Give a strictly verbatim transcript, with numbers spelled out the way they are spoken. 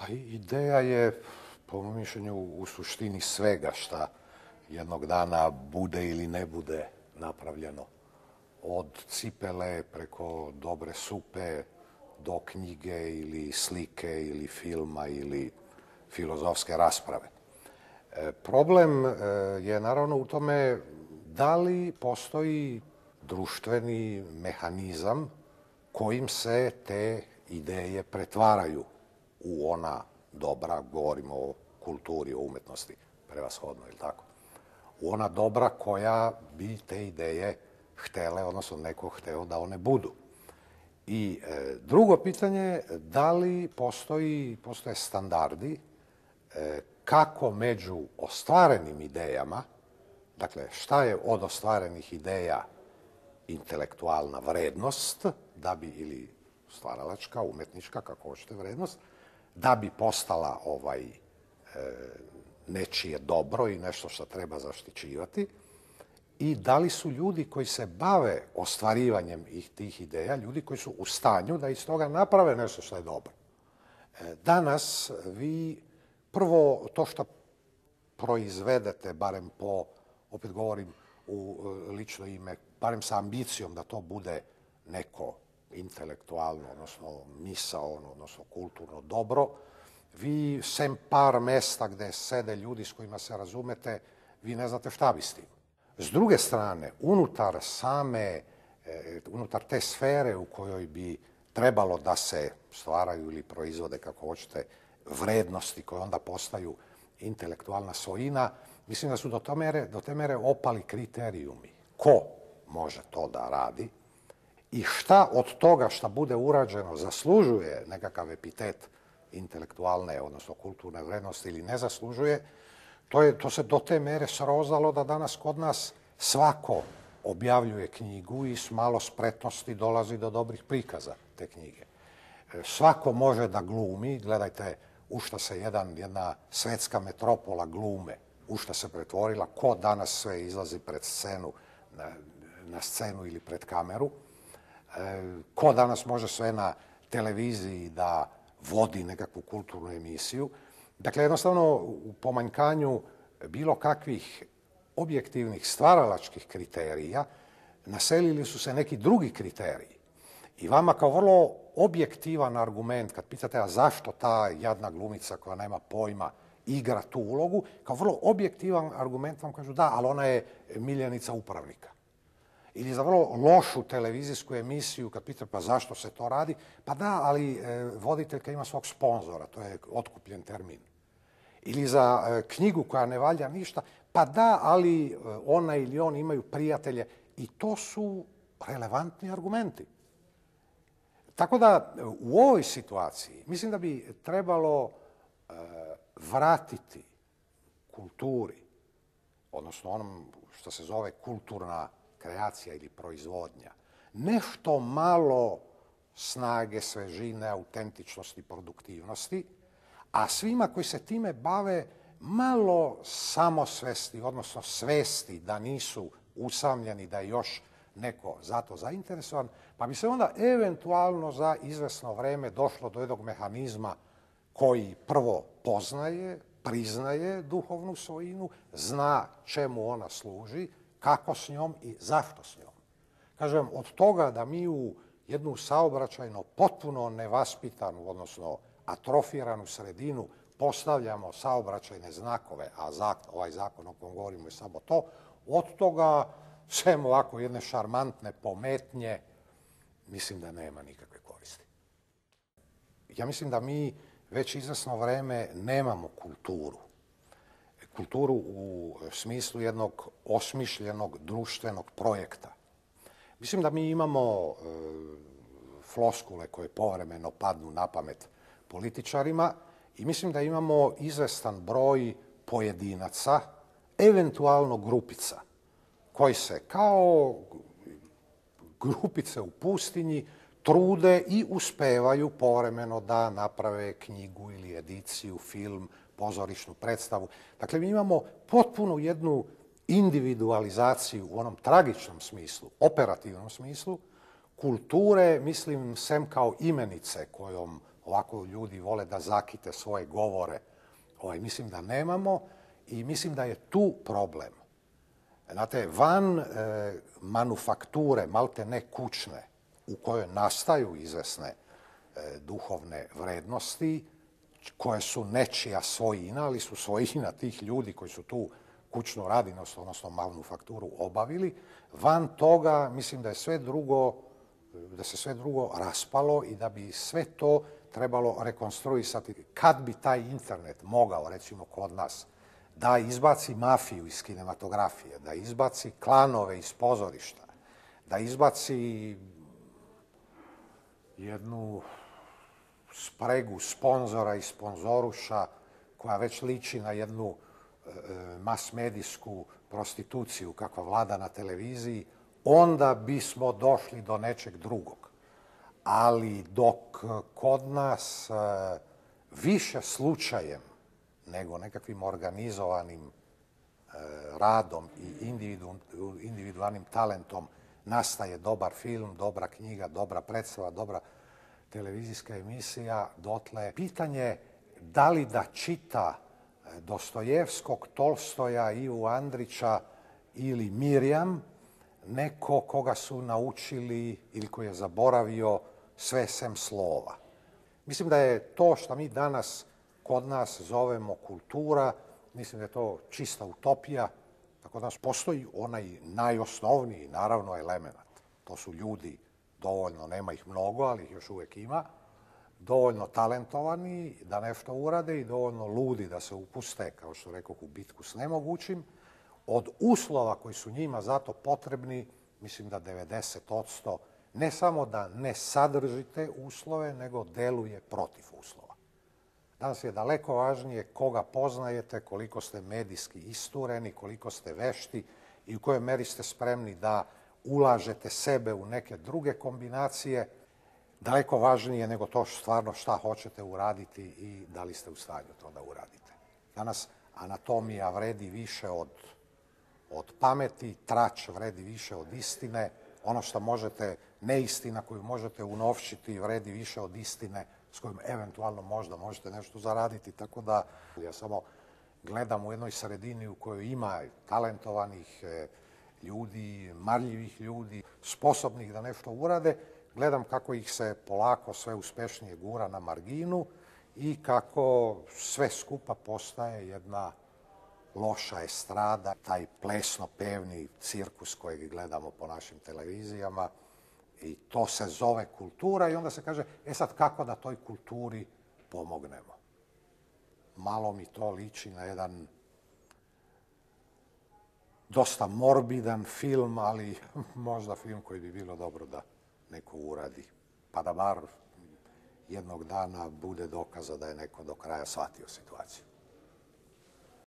Pa ideja je, po mom mišljenju, u suštini svega šta jednog dana bude ili ne bude napravljeno. Od cipele preko dobre supe do knjige ili slike ili filma ili filozofske rasprave. Problem je naravno u tome da li postoji društveni mehanizam kojim se te ideje pretvaraju u ona dobra, govorimo o kulturi, o umetnosti, prevashodno, ili tako, u ona dobra koja bi te ideje htele, odnosno neko hteo da one budu. I e, drugo pitanje je da li postoji, postoje standardi e, kako među ostvarenim idejama, dakle šta je od ostvarenih ideja intelektualna vrednost, da bi, ili stvaralačka, umetnička, kako hoćete vrednost, da bi postala ovaj, e, nečije dobro i nešto što treba zaštićivati, i da li su ljudi koji se bave ostvarivanjem tih ideja, ljudi koji su u stanju da iz toga naprave nešto što je dobro. Danas vi prvo to što proizvedete, barem po, opet govorim u lično ime, barem sa ambicijom da to bude neko intelektualno, odnosno misaono, odnosno kulturno dobro, vi sem par mesta gde sede ljudi s kojima se razumete, vi ne znate šta bi s tim. S druge strane, unutar same, unutar te sfere u kojoj bi trebalo da se stvaraju ili proizvode, kako hoćete, vrednosti koje onda postaju intelektualna svojina, mislim da su do te mere, do te mere opali kriterijumi. Ko može to da radi i šta od toga šta bude urađeno zaslužuje nekakav epitet intelektualne, odnosno kulturne vrednosti ili ne zaslužuje, To, je, to se do te mere srozalo da danas kod nas svako objavljuje knjigu i s malo spretnosti dolazi do dobrih prikaza te knjige. Svako može da glumi, gledajte u šta se jedan, jedna svetska metropola glume, u šta se pretvorila, ko danas sve izlazi pred scenu, na, na scenu ili pred kameru, ko danas može sve na televiziji da vodi nekakvu kulturnu emisiju. Dakle, jednostavno, u pomanjkanju bilo kakvih objektivnih stvaralačkih kriterija naselili su se neki drugi kriteriji. I vama kao vrlo objektivan argument, kad pitate a zašto ta jadna glumica koja nema pojma igra tu ulogu, kao vrlo objektivan argument vam kažu da, ali ona je miljenica upravnika. Ili za vrlo lošu televizijsku emisiju, kad pitate pa zašto se to radi, pa da, ali e, voditeljka ima svog sponzora, to je otkupljen termin. Ili za e, knjigu koja ne valja ništa, pa da, ali e, ona ili on imaju prijatelje. I to su relevantni argumenti. Tako da u ovoj situaciji mislim da bi trebalo e, vratiti kulturi, odnosno onom što se zove kulturna kreacija ili proizvodnja, nešto malo snage, svežine, autentičnosti, produktivnosti, a svima koji se time bave malo samosvesti, odnosno svesti da nisu usamljeni, da je još neko zato zainteresovan, pa bi se onda eventualno za izvesno vreme došlo do jednog mehanizma koji prvo poznaje, priznaje duhovnu svojinu, zna čemu ona služi, kako s njom i zašto s njom. Kažem, od toga da mi u jednu saobraćajno potpuno nevaspitanu, odnosno atrofiranu sredinu postavljamo saobraćajne znakove, a zakon, ovaj zakon o kojem govorimo je samo to, od toga sem ovako jedne šarmantne pometnje, mislim da nema nikakve koristi. Ja mislim da mi već izvesno vreme nemamo kulturu. Kulturu u smislu jednog osmišljenog društvenog projekta. Mislim da mi imamo e, floskule koje povremeno padnu na pamet političarima i mislim da imamo izvestan broj pojedinaca, eventualno grupica, koji se kao grupice u pustinji trude i uspevaju povremeno da naprave knjigu ili ediciju, film, pozorišnu predstavu. Dakle, mi imamo potpuno jednu individualizaciju u onom tragičnom smislu, operativnom smislu, kulture, mislim, sem kao imenice kojom ovako ljudi vole da zakite svoje govore, ovaj, mislim da nemamo i mislim da je tu problem. Znate, van e, manufakture, malte ne kućne, u kojoj nastaju izvesne e, duhovne vrednosti, koje su nečija svojina, ali su svojina tih ljudi koji su tu kućnu radinost, odnosno manufakturu obavili. Van toga, mislim da je sve drugo, da se sve drugo raspalo i da bi sve to trebalo rekonstruisati. Kad bi taj internet mogao, recimo kod nas, da izbaci mafiju iz kinematografije, da izbaci klanove iz pozorišta, da izbaci jednu spregu sponzora i sponzoruša koja već liči na jednu e, mas-medijsku prostituciju kakva vlada na televiziji, onda bismo došli do nečeg drugog. Ali dok kod nas e, više slučajem nego nekakvim organizovanim e, radom i individu, individualnim talentom nastaje dobar film, dobra knjiga, dobra predstava, dobra televizijska emisija, dotle pitanje da li da čita Dostojevskog, Tolstoja, Ivu Andrića ili Mirjam neko koga su naučili ili koji je zaboravio sve sem slova. Mislim da je to što mi danas kod nas zovemo kultura, mislim da je to čista utopija, da kod nas postoji onaj najosnovniji, naravno, element. To su ljudi dovoljno, nema ih mnogo, ali ih još uvijek ima, dovoljno talentovani da nešto urade i dovoljno ludi da se upuste, kao što rekoh, u bitku s nemogućim. Od uslova koji su njima zato potrebni, mislim da devedeset posto ne samo da ne sadrži te uslove, nego deluje protiv uslova. Danas je daleko važnije koga poznajete, koliko ste medijski istureni, koliko ste vešti i u kojoj meri ste spremni da ulažete sebe u neke druge kombinacije, daleko važnije nego to stvarno šta hoćete uraditi i da li ste u stanju to da uradite. Danas anatomija vredi više od, od pameti, trač vredi više od istine, ono što možete, neistina koju možete unovčiti vredi više od istine s kojom eventualno možda možete nešto zaraditi. Tako da ja samo gledam u jednoj sredini u kojoj ima talentovanih ljudi, marljivih ljudi, sposobnih da nešto urade, gledam kako ih se polako sve uspešnije gura na marginu i kako sve skupa postaje jedna loša estrada, taj plesno-pevni cirkus kojeg gledamo po našim televizijama i to se zove kultura i onda se kaže, e sad kako da toj kulturi pomognemo? Malo mi to liči na jedan dosta morbidan film, ali možda film koji bi bilo dobro da neko uradi, pa da bar jednog dana bude dokaza da je neko do kraja shvatio situaciju.